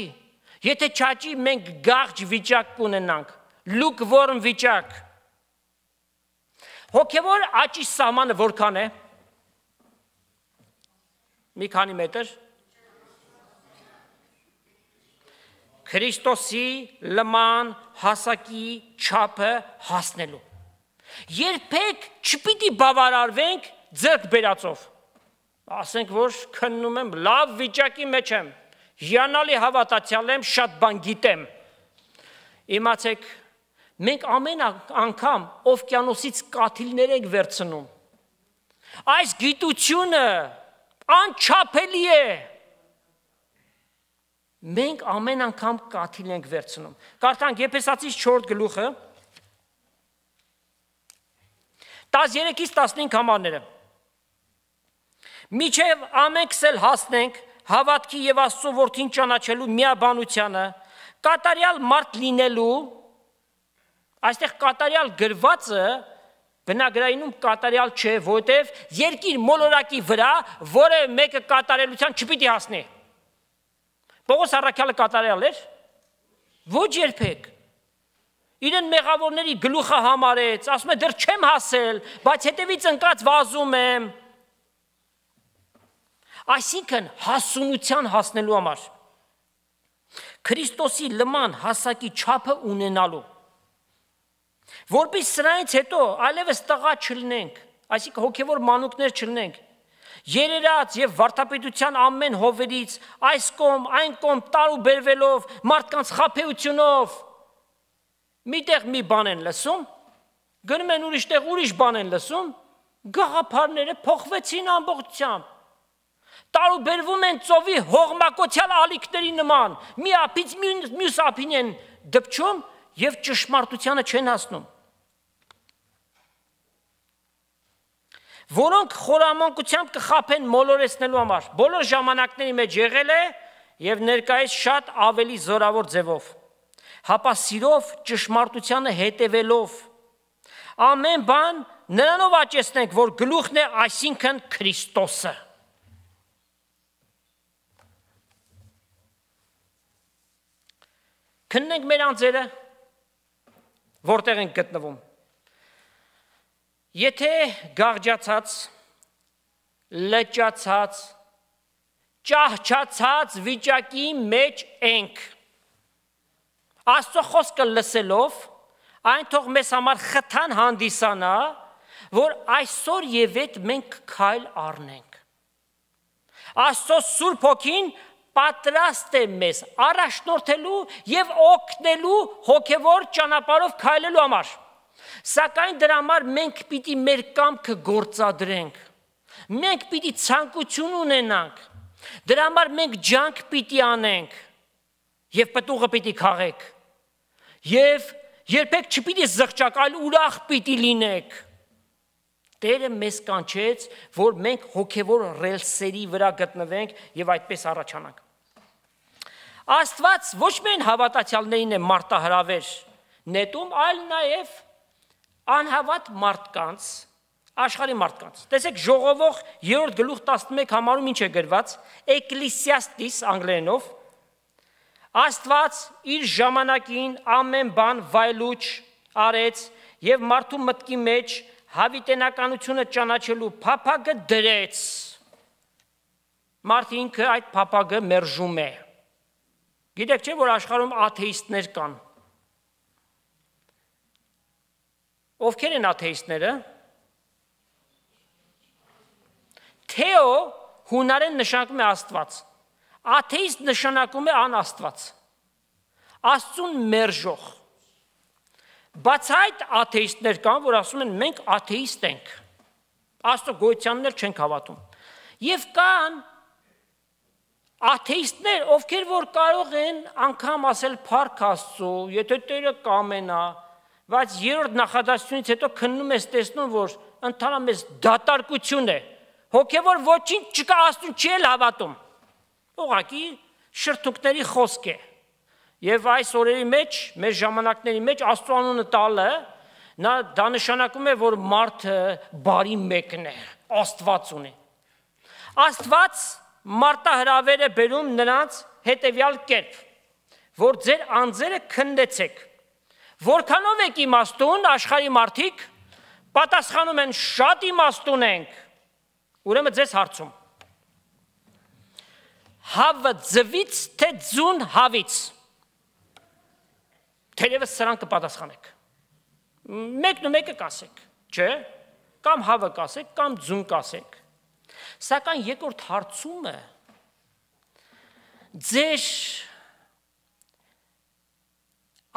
Եթե չաճի, մենք գաղջ վիճակ կունենանք, lukewarm վիճակ։ Հոգևոր աճի սահմանը որքան է։ Մի քանի մետր։ Քրիստոսի լման հասակի չափը հասնելու։ Երբեք չպիտի բավարարվենք ձեռք բերածով։ Ասենք, որ քննում եմ, լավ վիճակի մեջ եմ, հիանալի հավատացյալ եմ, շատ բան գիտեմ։ Իմացեք, մենք ամեն անգամ օվկիանոսից կաթիլներ ենք վերցնում։ Այս գիտությունը անչափելի է։ Մենք ամեն անգամ կաթիլ ենք վերցնում։ Կարդանք Եփեսացիս 4 գլուխը 13-ից 15 համարները։ Միջև ամենքս էլ հասնենք հավատքի եւ Աստծո որդին ճանաչելու միաբանությանը, կատարյալ մարդ լինելու, այստեղ կատարյալ գրվածը բնագրայինում կատարյալ չէ, որտեվ երկիր մոլորակի վրա որևէ մեկը կատարելության չպիտի հասնի։ Պողոս առաքյալը կատարյալ էր։ Ոչ երբեք։ Իրեն մեղավորների գլուխը համարեց, ասում է դեռ չեմ հասել, բայց հետևից ընկած վազում եմ։ Այսինքն հասունության հասնելու համար Քրիստոսի լման հասակի չափը ունենալու, որպես սրանից հետո այլևս տղա չլինենք, այսինքն հոգևոր մանուկներ չլինենք, երերած եւ վարդապետության ամեն հովերից այս կողմ, այն կողմ տարու բերվելով, մարդկանց խաբեությունով, միտեղ մի բան են լսում, գնում են ուրիշ տեղ ուրիշ բան են լսում, գաղափարները փոխվեցին ամբողջությամբ։ Տարու բերվում են ծովի հողմակոչյալ ալիքների նման, մի ափից մյուս ափին են դպչում եւ ճշմարտությանը չեն հասնում։ Որոնք խորամանկությամբ կխաբեն մոլորեցնելու համար, բոլոր ժամանակների մեջ եղել է եւ ներկայիս շատ ավելի զորավոր ձևով, հապա սիրով ճշմարտությանը հետևելով, ամեն բան նրանով աճեցնենք, որ գլուխն է, այսինքն Քրիստոսը։ Քննենք մեր անձերը, որտեղ ենք գտնվում։ Եթե գաղջացած, լճացած, ճահճացած վիճակի մեջ ենք, Աստծո խոսքը լսելով, այն թող մեզ համար խթան հանդիսանա, որ այսօր եւ այդ մենք քայլ առնենք։ Աստծո Սուրբ Հոգին պատրաստ է մեզ առաջնորդելու եւ օգնելու հոգեվոր ճանապարհով քայլելու համար։ Սակայն դրա համար մենք պիտի մեր կամքը գործադրենք։ Մենք պիտի ցանկություն ունենանք։ Դրա համար մենք ջանք պիտի անենք եւ պտուղը պիտի քաղենք։ Եվ երբեք չպիտի զղջակ, այլ ուրախ պիտի լինենք։ Տերը մեզ կանչեց, որ մենք հոգևոր ռելսերի վրա գտնվենք եւ այդպես առաջանանք։ Աստված ոչ միայն հավատացյալներին է մարտահրավեր նետում, այլ նաեւ անհավատ մարդկանց, աշխարհի մարդկանց։ Տեսեք ժողովող 3 գլուխ 11 համարում ինչ է գրված, Ecclesiastes անգլերենով, Աստված իր ժամանակին ամեն բան վայելուչ արեց եւ մարդու մտքի մեջ հավիտենականությունը ճանաչելու փափագը դրեց։ Մարդը ինքը այդ փափագը մերժում է։ Գիտեք չէ, որ աշխարհում աթեիստներ կան։ Ովքեր են աթեիստները։ Թեո հունարեն նշանակում է Աստված, աթեիստ նշանակում է անաստված, Աստծուն մերժող։ Բայց այդ աթեիստներ կան, որ ասում են մենք աթեիստ ենք, Աստծո գոյությանն էլ չենք հավատում։ Եվ կան աթեիստներ, ովքեր որ կարող են անգամ ասել փառք Աստծո, եթե Տերը կամենա, բայց երրորդ նախադասությունից հետո քննում ես տեսնում, որ ընդհանրապես դատարկություն է, հոգևոր ոչինչ չկա, Աստծուն չի էլ հավատում։ Ուղղակի շրթունքների խոսք է։ Եվ այս օրերի մեջ, մեր ժամանակների մեջ Աստծո անունը տալը, դա նշանակում է, որ մարդը բարի մեկն է, Աստված ունի։ Աստված մարտահրավեր է բերում նրանց հետևյալ կերպ, որ ձեր անձերը քննեցեք։ Որքանով եք իմաստուն, աշխարհի մարդիկ պատասխանում են շատ իմաստուն ենք։ Ուրեմն ձեզ հարցում։ Հավը ձվից, թե ձուն հավից։ Թերևս սրան կպատասխանեք։ Մեկն ու մեկը կասեք, չէ՞, կամ հավը կասեք, կամ ձուն կասեք։ Սակայն երկրորդ հարցումը ձեր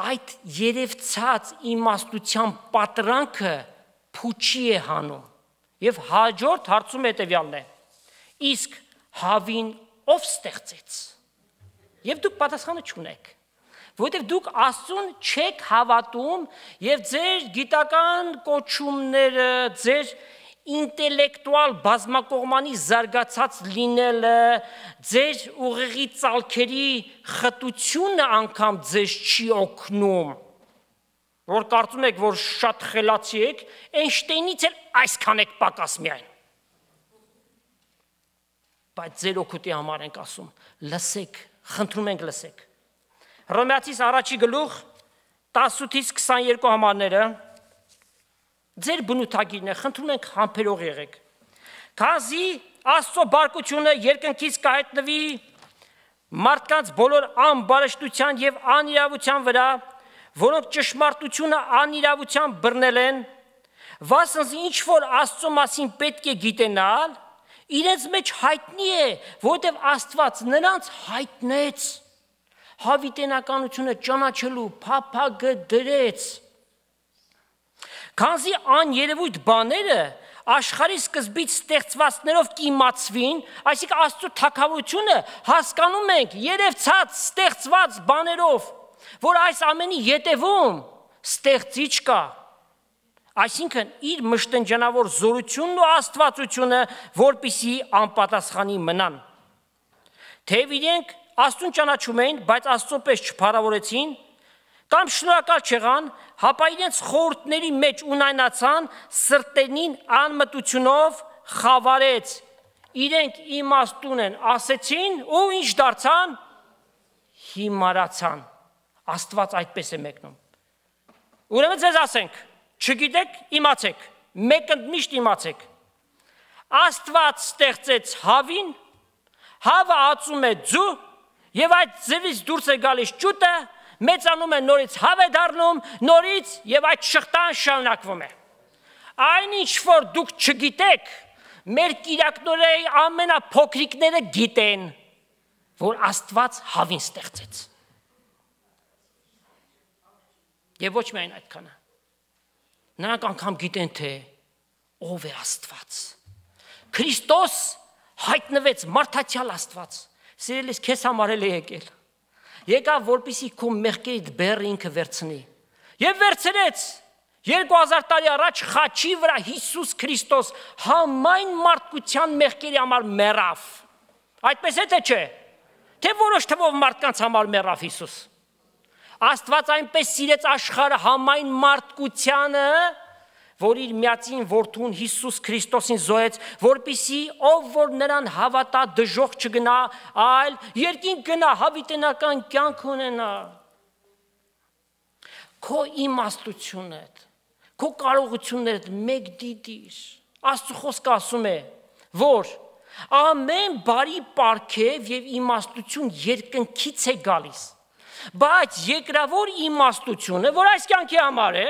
այդ երևցած իմաստության պատրանքը փուչի է հանում։ Եվ հաջորդ հարցում հետևյալն է. իսկ հավին ով ստեղծեց։ Եվ դուք պատասխանը չունեք, որովհետև դուք Աստծուն չեք հավատում եւ ձեր գիտական կոչումները, ձեր ինտելեկտուալ բազմակողմանի զարգացած լինելը, ձեր ուղեղի ծալքերի խտությունը անգամ ձեզ չի օգնում, որ կարծում եք, որ շատ խելացի եք, Էյնշտեյնից էլ այսքան եք պակաս միայն։ Բայց ձեր օգուտի համար ենք ասում, լսեք, խնդրում ենք լսեք։ Հռոմեացիս առաջի գլուխ 18-ից 22 համարները ձեր բնութագիրն է, խնդրում ենք համբերող եղեք։ Քանզի Աստծո բարկությունը երկնքից կհայտնվի մարդկանց բոլոր անբարշտության եւ անիրավության վրա, որոնք ճշմարտությունը անիրավության բռնել են, վասնզի ինչ որ Աստծո մասին պետք է գիտենալ, իրենց մեջ հայտնի է, որովհետև Աստված նրանց հայտնեց, հավիտենականությունը ճանաչելու փափագը դրեց։ Քանզի աներևույթ բաները աշխարհի սկզբից ստեղծվածներով կիմացվին, այսինքն Աստծո թագավորությունը հասկանում ենք երևցած ստեղծված բաներով, որ այս ամենի ետևում ստեղծիչ կա, այսինքն իր մշտնջանավոր զորությունն ու աստվածությունը, որպիսի անպատասխանի մնան։ Թեև իրենք Աստծուն ճանաչում էին, բայց Աստծո պես չփառավորեցին, կամ շնորհակալ չեղան, հապա իրենց խորհուրդների մեջ ունայնացան, սրտերին անմտությունով խավարեց, իրենք իմաստուն են ասեցին ու ինչ դարձան, հիմարացան։ Աստված այդպես է մեկնում։ Ուրեմն ձեզ ասենք, չգիտեք, իմացեք, մեկընդմիշտ իմացեք։ Աստված ստեղծեց հավին, հավը ածում է ձու, եւ այդ ձևից դուրս է գալիս ճուտը, մեծանում է նորից հավ է դառնում, նորից եւ այդ շղթան շարունակվում է։ Այնինչ որ դուք չգիտեք, մեր կիրակնորեի ամենափոքրիկները գիտեն, որ Աստված հավին ստեղծեց։ Եվ ոչ միայն այդքանը։ Նրանք անգամ գիտեն, թե ով է Աստված։ Քրիստոս հայտնվեց մարդացյալ Աստված։ Սիրելիս, քեզ համար էլ է եկել։ Եկավ, որպեսզի քո մեղքերիդ բեռը ինքը վերցնի։ Եվ վերցրեց 2000 տարի առաջ խաչի վրա Հիսուս Քրիստոս համայն մարդկության մեղքերի համար մեռավ։ Այդպես է թե չէ։ Թե որոշ թվով մարդկանց համար մեռավ Հիսուս։ Աստված այնպես սիրեց աշխարհը համայն մարդկությանը, որ իր միածին որդուն Հիսուս Քրիստոսին զոհեց, որպեսզի ով որ նրան հավատա դժոխք չգնա, այլ երկինք գնա, հավիտենական կյանք ունենա։ Քո իմաստությունդ, քո կարողություններդ մեկ դիտիր։ Աստծո խոսքը ասում է, որ ամեն բարի պարգև եւ իմաստություն երկնքից է գալիս, բայց երկրավոր իմաստությունը, որ այս կյանքի համար է,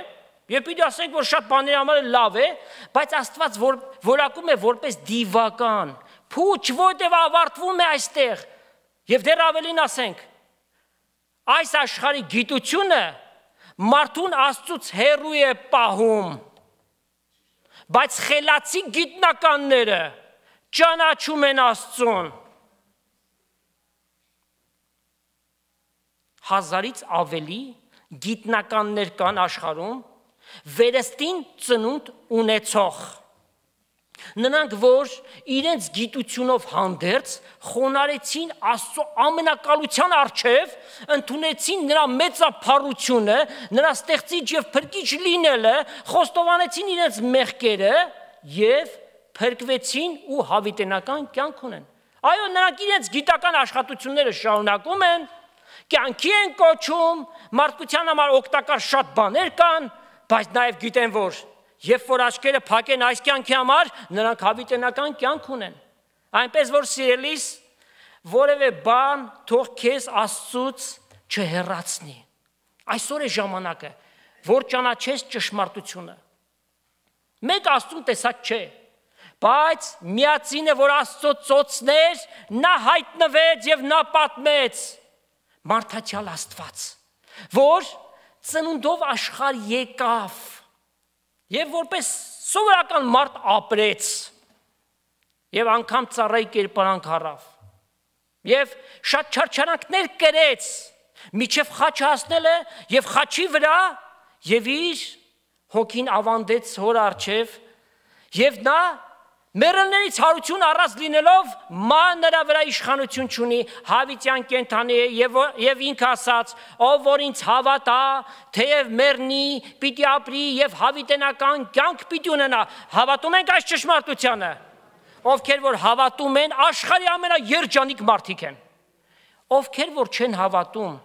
Եվ պիտի ասենք, որ շատ բաների համար լավ է, բայց Աստված որակում է որպես դիվական, փուչ, որտեղ ավարտվում է այստեղ։ Եվ դեռ ավելին ասենք, այս աշխարհի գիտությունը մարդուն Աստծուց հեռու է պահում, բայց խելացի գիտնականները ճանաչում են Աստծուն։ 1000-ից ավելի գիտնականներ կան աշխարհում, վերստին ծնունդ ունեցող։ Նրանք, որ իրենց գիտությունով հանդերձ խոնարեցին Աստծո ամենակալության առջև, ընդունեցին նրա մեծափառությունը, նրա ստեղծիչ եւ փրկիչ լինելը, խոստովանեցին իրենց մեղքերը եւ փրկվեցին ու հավիտենական կյանք ունեն։ Այո, նրանք իրենց գիտական աշխատությունները շարունակում են, կյանքի են կոչում, մարդկության համար օգտակար շատ բաներ կան, բայց նաև գիտեն, որ երբ որ աչքերը փակեն այս կյանքի համար, նրանք հավիտենական կյանք ունեն։ Այնպես որ սիրելիս, որևէ բան թող քեզ Աստծուց չհեռացնի։ Այսօր է ժամանակը, որ ճանաչես ճշմարտությունը։ Մեկ Աստծուն տեսակ չէ, բայց միածինը, որ Աստծո ծոցներ, նա հայտնվեց եւ նա պատմեց մարդացյալ Աստված, որ ծնունդով աշխարհ եկավ եւ որպես սովորական մարդ ապրեց եւ անգամ ծառայի կերպարանք առավ եւ շատ չարչարանքներ կրեց միջև խաչը հասնելը եւ խաչի վրա եւ իր հոգին ավանդեց հոր առջև եւ նա մեռելներից հարություն առած լինելով նրա վրա իշխանություն չունի, հավիտյան կենդանի է եւ ինքը ասաց, ով որ ինձ հավատա, թեև մեռնի, պիտի ապրի եւ հավիտենական կյանք պիտի ունենա։ Հավատում ենք այս ճշմարտությանը։ Ովքեր որ հավատում են, աշխարհի ամենաերջանիկ մարդիկ են։ Ովքեր որ չեն հավատում,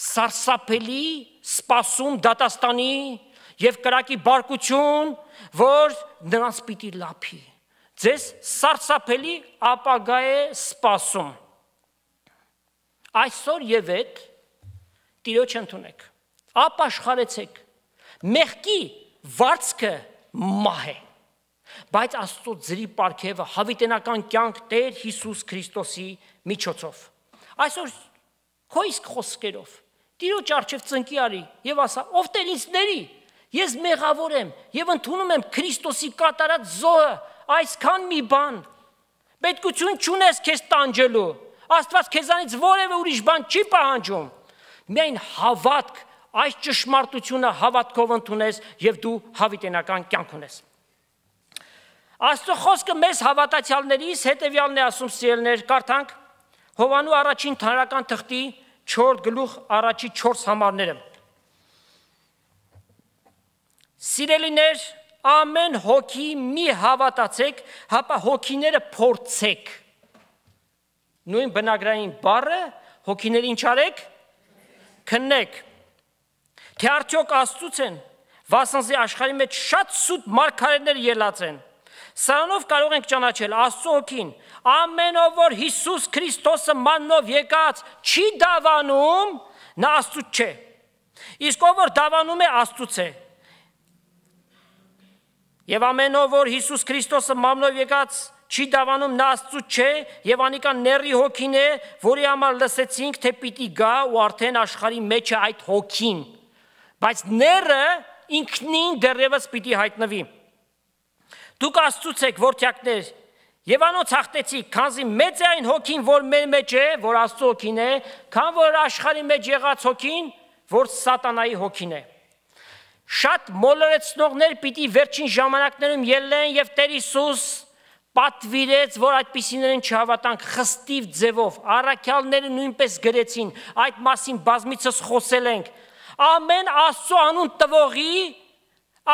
սարսափելի սպասում դատաստանի եւ կրակի բարկություն, որ նրանց պիտի լափի։ Ձեզ սարսափելի ապագա է սպասում։ Այսօր եւ այդ Տիրոջ ընդունեք, ապաշխարեցեք, մեղքի վարձքը մահ է, բայց Աստծո ձրի պարգևը հավիտենական կյանք Տեր Հիսուս Քրիստոսի միջոցով։ Այսօր քո իսկ խոսքերով Տիրոջ առջև ծնկի արի եւ ասա, ով Տեր ինձ ների, ես մեղավոր եմ եւ ընդունում եմ Քրիստոսի կատարած զոհը, այսքան մի բան, պետքություն չունես քեզ տանջելու, Աստված քեզանից որևէ ուրիշ բան չի պահանջում, միայն հավատք, այս ճշմարտությունը հավատքով ընդունես եւ դու հավիտենական կյանք ունես։ Աստծո խոսքը մեզ հավատացյալներիս հետեւյալն է ասում, սիրելիներ, կարդանք Հովանու առաջին թարական թղթի 4 գլուխ առաջի 4 համարները։ Սիրելիներ, ամեն հոգի մի հավատացեք, հապա հոգիները փորձեք։ Նույն բնագրային բառը հոգիների ինչ արեք, քննեք, թե արդյոք Աստծուց են, վասնզի աշխարհի մեջ շատ սուտ մարգարեներ ելած են։ Սրանով կարող ենք ճանաչել Աստծո հոգին, ամեն ով որ Հիսուս Քրիստոսը մաննով եկած չի դավանում, նա Աստծուց չէ։ Իսկ ով որ դավանում է, Աստծուց է։ Եվ ամեն ով որ Հիսուս Քրիստոսը մաննով եկած չի դավանում, նա Աստծուց չէ, եւ անիկա ների հոգին է, որի համար լսեցինք, թե պիտի գա ու արդեն աշխարհի մեջ է այդ հոգին, բայց ները ինքնին դեռևս պիտի հայտնվի։ Դուք Աստծուց եք, որդյակներ, եւ անոնց հաղթեցիք, քանզի մեծ է այն հոգին, որ մեր մեջ է, որ Աստծո հոգին է, քան որ աշխարհի մեջ եղած հոգին, որ սատանայի հոգին է։ Շատ մոլորեցնողներ պիտի վերջին ժամանակներում ելնեն եւ Տեր Հիսուս պատվիրեց, որ այդպիսիներին չհավատանք խստիվ ձևով, առաքյալները նույնպես գրեցին, այդ մասին բազմիցս խոսել ենք։ Ամեն Աստծո անուն տվողի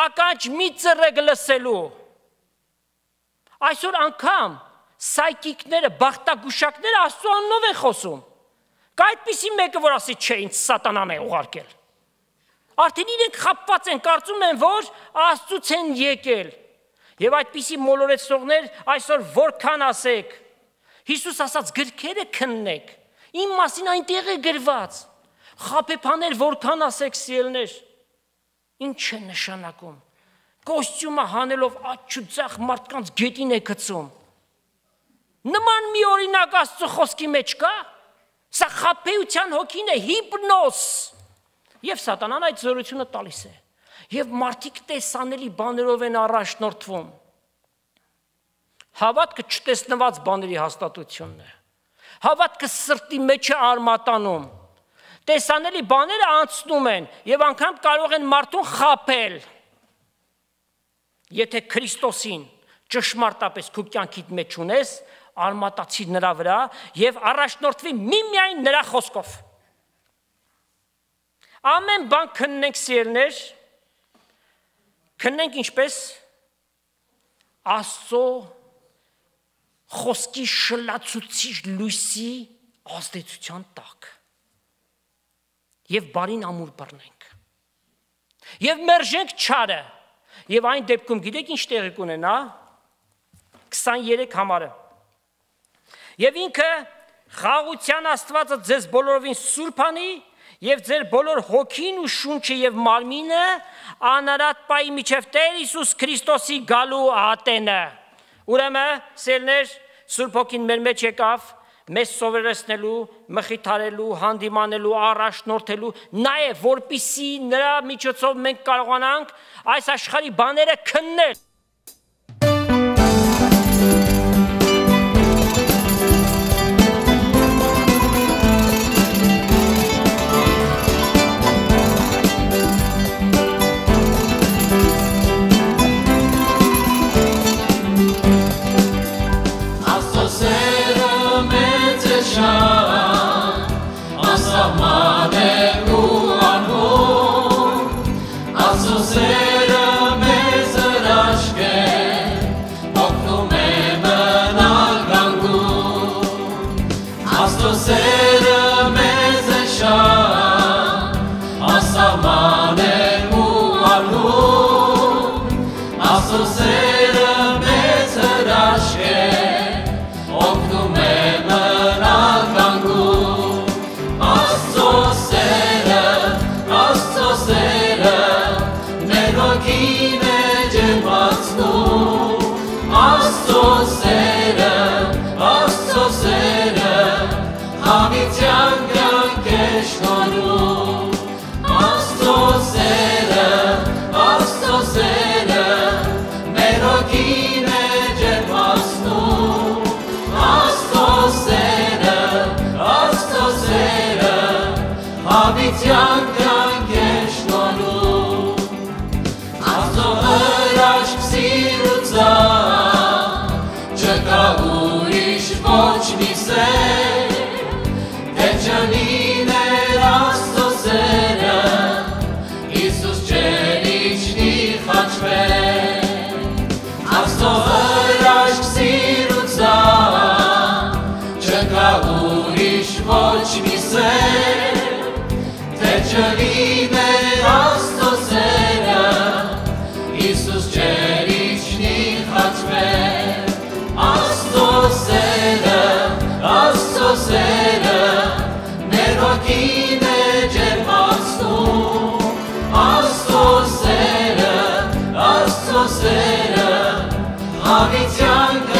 ականջ մի ծրեկ լսելու։ Այսօր անգամ սայկիկները, բախտագուշակները Աստծո անունով են խոսում։ Կա այդպիսի մեկը, որ ասի, չէ, ինձ սատանան է ուղարկել։ Արդեն իրենք խաբված են, կարծում են, որ Աստծուց են եկել։ Եվ այդպիսի մոլորեցնողներ այսօր որքան ասեք, Հիսուս ասաց գրքերը քննեք, իմ մասին այնտեղ է գրված, խաբեբաներ որքան ասեք սիրելներ, Ինչ է նշանակում։ Կոստյումը հանելով աչու ձախ մարդկանց գետին է գցում։ Նման մի օրինակ Աստծո խոսքի մեջ կա։ Սա խաբեության հոգին է, հիպնոզ։ Եվ սատանան այդ զորությունը տալիս է։ Եվ մարդիկ տեսանելի բաներով են առաջնորդվում։ Հավատքը չտեսնված բաների հաստատությունն է։ Հավատքը սրտի մեջ է արմատանում։ Տեսանելի բաները անցնում են եւ անգամ կարող են մարդուն խաբել։ Եթե Քրիստոսին ճշմարտապես քո կյանքիդ մեջ ունես, արմատացի նրա վրա եւ առաջնորդվի միմիայն նրա խոսքով։ Ամեն բան քննենք սիրելիներ, քննենք ինչպես Աստծո խոսքի շլացուցիչ լույսի ազդեցության տակ։ Եվ բարին ամուր բռնենք։ Եվ մերժենք չարը։ Եվ այն դեպքում գիտեք ինչ տեղի կունենա 23 համարը։ Եվ ինքը խաղաղության Աստվածը ձեզ բոլորովին սուրբ անի եւ ձեր բոլոր հոգին ու շունչը եւ մարմինը անարատ պայի միջև Տեր Հիսուս Քրիստոսի գալու ատենը։ Ուրեմն սիրելիներ, Սուրբ Հոգին մեր մեջ եկավ մեզ սովորեցնելու, մխիթարելու, հանդիմանելու, առաջնորդելու, նաև որպիսի նրա միջոցով մենք կարողանանք այս աշխարհի բաները քննել։ Հավիտյան